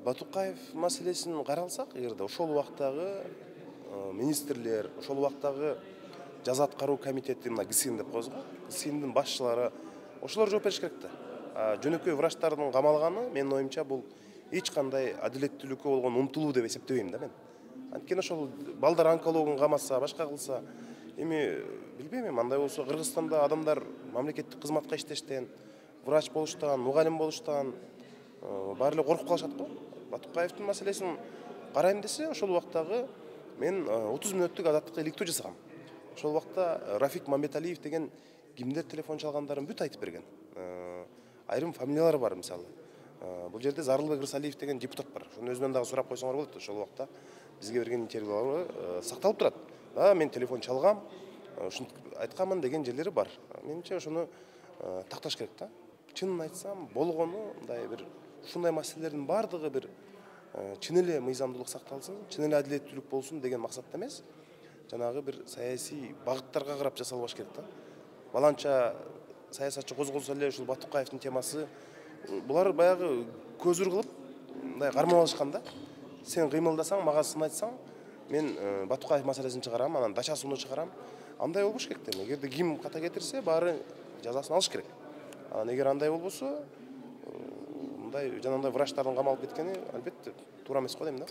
Батукаев маселесин каралсак, эгерде ошол убактагы министрлер, ошол убактагы жаза аткаруу комитети, мына ГСИН деп коебуз го, ГСИНдин башчылары ошолор жооп бериш керек да. Жөнөкөй врачтардын камалганы, менин оюмча, бул эч кандай адилеттүүлүккө болгон умтулуу деп эсептебейм да мен. Анткени ошол балдар онкологун камаса, башка кылса, эми билбейм, андай болсо Кыргызстанда адамдар мамлекеттик кызматка иштештен, врач болуштан, мугалим болуштан баары эле коркуп калышат го. Батукаевдин маселесин карайм десе, ошол убактагы мен 30 мүнөттүк азаттыкка иликтөө жасагам. Ошол убакта Рафик Мамбеталиев деген кимдер телефон чалгандарын бүт айтып берген. Айрым фамилиялар бар, мисалы. Бул жерде Зарылбек Рысалиев деген депутат бар. Ошонун өзүнөн дагы сурап койсоңор болот. Ошол убакта бизге берген интервьюлары сакталып турат. Мен телефон чалгам, ушинтип айтканмын деген жерлери бар. Менимче ошону такташ керек да. Чынын айтсам, болгону мындай бир ушундай маселелердин баардыгы бир чын эле мыйзамдуулук сакталсын, чын эле адилеттүүлүк болсун деген максатта эмес, жанагы бир саясий багыттарга карап жасалбаш керек да. Баланча саясатчы козголсо эле ушул Батукаевдин темасы, булар баягы көзүр кылып мындай кармап алышкан да. Сен кыймылдасаң, мага сын айтсаң, мен Батукаев маселесин чыгарам, анан Дачасууну чыгарам. Андай болбош керек да. Эгерде ким ката кетирсе, баары жазасын алыш керек. Эгер андай болбосо, мындай жанагындай врачтардын камалып кеткени албетте туура эмес го дейм да.